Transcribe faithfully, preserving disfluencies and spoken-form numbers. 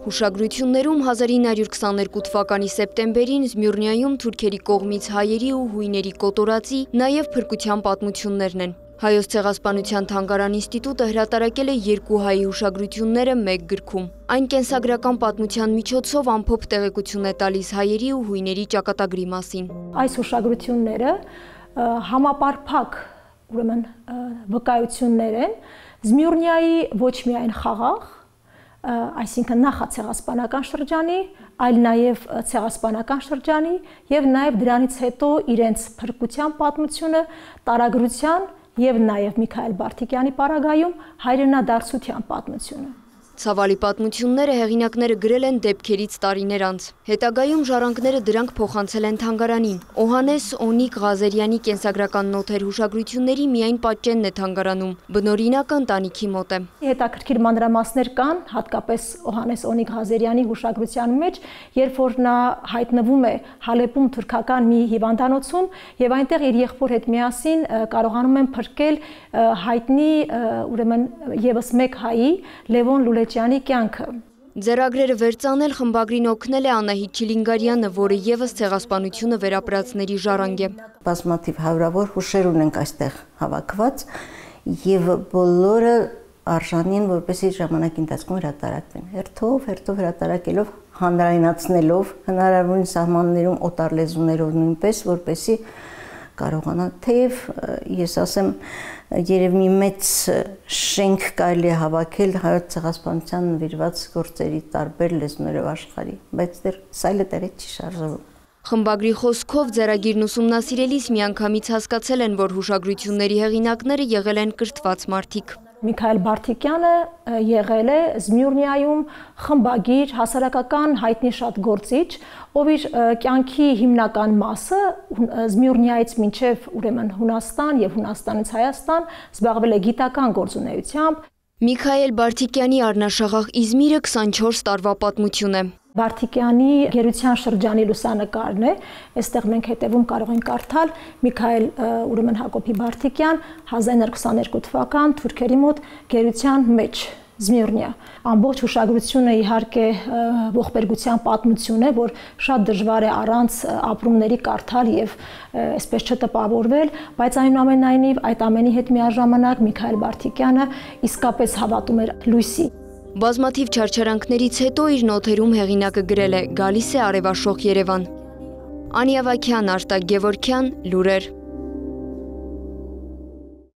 Հուշագրություններում հազար ինը հարյուր քսաներկու թվականի սեպտեմբերին Զմյուռնիայում թուրքերի կողմից հայերի ու հույների կոտորածի, նաև փրկության պատմություններն են։ Հայոց ցեղասպանության թանգարան ինստիտուտը հրատարակել է երկու հայի հուշագրությունները մեկ գրքում։ Այն կենսագրական պատմության միջոցով ամփոփ տեղեկություն է տալիս հայերի ու հույների ճակատագրի մասին։ Այս հուշագրությունները համապարփակ ուրեմն վկայություններ են Զմյուռնիայի ոչ միայն խաղաղ, այսինքն նախացեղասպանական շրջանի, այլ նաև ցեղասպանական շրջանի եւ նաև դրանից հետո իրենց փրկության պատմությունը, տարագրության եւ նաև Միքայել Բարթիկյանի պարագայում հայրենադարձության պատմությունը։ Ցավալի պատմությունները հեղինակները գրել են դեպքերից տարիներ անց։ Հետագայում ժառանգները դրանք փոխանցել են թանգարանին։ Օհանես Օնիկ Ղազարյանի կենսագրական նոթեր հուշագրությունների միայն պատճենն է թանգարանում, բնօրինակը ընտանիքի մոտ է։ Հետաքրքիր մանրամասներ կան, հատկապես Օհանես Օնիկ Ղազարյանի հուշագրության մեջ, երբ որ նա հայտնվում է Հալեպում թուրքական մի հիվանդանոցում եւ այնտեղ իր եղբոր հետ միասին կարողանում են փրկել հայտնի ուրեմն եւս մեկ հայի Լևոն Լուլեջյանի կյանքը։ Ձեռագրերը վերծանել խմբագրին օգնել է Անահիտ Չիլինգարյանը, որը եւս ցեղասպանությունը վերապրածների ժառանգ է։ Բազմաթիվ հարյուրավոր հուշեր ունենք այստեղ հավաքված եւ բոլորը արժանին, որպեսզի ժամանակի ընթացքում հրատարակվեն։ Հերթով, հերթով հրատարակելով, հանրայնացնելով, հնարավորին սահմաններում օտար լեզուներով նույնպես, որպեսզի կարողանա, թեև ես ասեմ, երև մի մեծ շենք կարելի է հավաքել հայոց ցեղասպանության նվիրված գործերի տարբեր լեզուներով աշխարհի, բայց դեռ սայլը տեղից չի շարժվում։ Խմբագրի խոսքով ձեռագիրն ուսումնասիրելիս միանգամից հասկացել են, որ հուշագրությունների հեղինակները եղել են կրթված մարդիկ։ Միքայել Բարթիկյանը եղել է Զմյուռնիայում խմբագիր, հասարակական հայտնի շատ գործիչ, ով իր կյանքի հիմնական մասը Զմյուռնիայից մինչև ուրեմն Հունաստան եւ Հունաստանից Հայաստան զբաղվել է գիտական գործունեությամբ։ Միքայել Բարթիկյանի առնաշաղախ Իզմիրը քսանչորս տարվա պատմություն է։ Բարթիկյանի գերության շրջանի լուսանկարն է, այստեղ մենք հետևում կարող ենք կարդալ Միքայել ուրեմն Հակոբի Բարթիկյան հազար ինը հարյուր քսաներկու թվական թուրքերի մոտ գերության մեջ Զմյուռնիա։ Ամբողջ հուշագրությունը իհարկե ողբերգության պատմություն է, որ շատ դժվար է առանց ապրումների կարդալ եւ այսպես չտպավորվել, բայց այնուամենայնիվ այդ ամենի հետ միաժամանակ Միքայել Բարթիկյանը իսկապես հավատում էր լույսի։ Բազմաթիվ չարչարանքներից հետո իր նոթերում հեղինակը գրել է «Գալիս է արևաշող Երևան»։ Անի Ավագյան, Արտակ Գևորգյան, Լուրեր։